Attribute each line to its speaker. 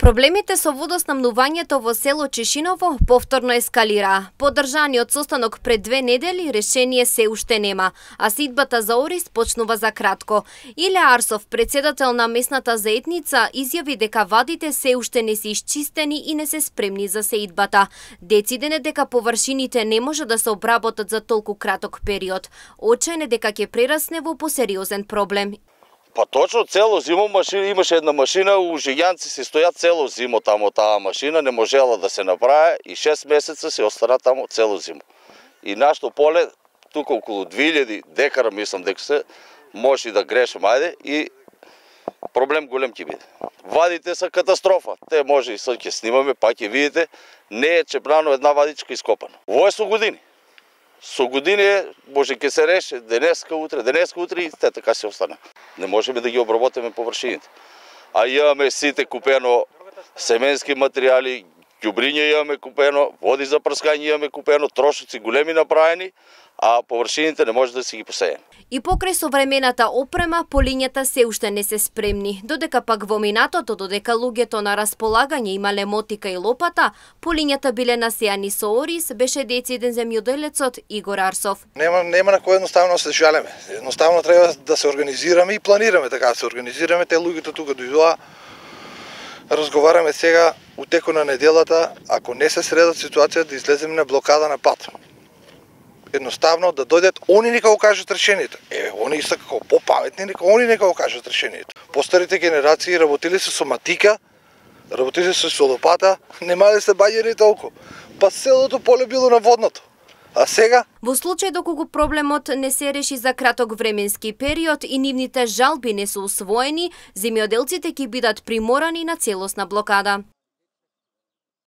Speaker 1: Проблемите со водоснабнувањето во село Чешиново повторно ескалира. По одржаниот состанок пред 2 недели решение се уште нема, а сидбата за Орис почнува за кратко. Иле Арсов, председател на местната заедница, изјави дека вадите се уште не се исчистени и не се спремни за сеидбата. Дециден е дека површините не може да се обработат за толку краток период. Очен е дека ќе прерасне во посериозен проблем.
Speaker 2: Па точно цело зимо имаше една машина, ужијанци се стојат цело зимо тамо таа машина, не можела да се направи и 6 месеца се остана тамо цело зимо. И нашето поле, тука околу 2000 декара, мислам дека се, може да грешам, ајде, и проблем голем ќе биде. Вадите са катастрофа, те може и сега ќе снимаме, па ќе видите, не е чепрано една вадичка ископана. Во е со години. Со години може ќе се реше денеска утре и те така се остане. Не можеме да ги обработиме површините. А имаме сите купено семенски материјали, ѓубриња имаме купено, води за прскање имаме купено, трошоци големи направени, а површините не може да си ги посејаме.
Speaker 1: И покрај современата опрема, полињата се уште не се спремни. Додека пак во минатото, додека луѓето на располагање имале мотика и лопата, полињата биле насејани со Орис, беше дециден земјоделецот Игор Арсов.
Speaker 3: Нема на кој едноставно да се жалеме. Едноставно треба да се организираме и планираме така да се организираме. Те луѓето тука дојдоа. Разговараме сега у текот на неделата, ако не се средат ситуација да излеземе на блокада на пат. Едноставно да дојдат, они нека го кажат решението. Они са како попаметни, они нека го кажат решението. Постарите генерации работили се со матика, работили се со лопата, немале се баѓери толку. Па селото поле било наводнато. А сега?
Speaker 1: Во случај доколку проблемот не се реши за краток временски период и нивните жалби не се усвоени, земјоделците ќе бидат приморани на целосна блокада.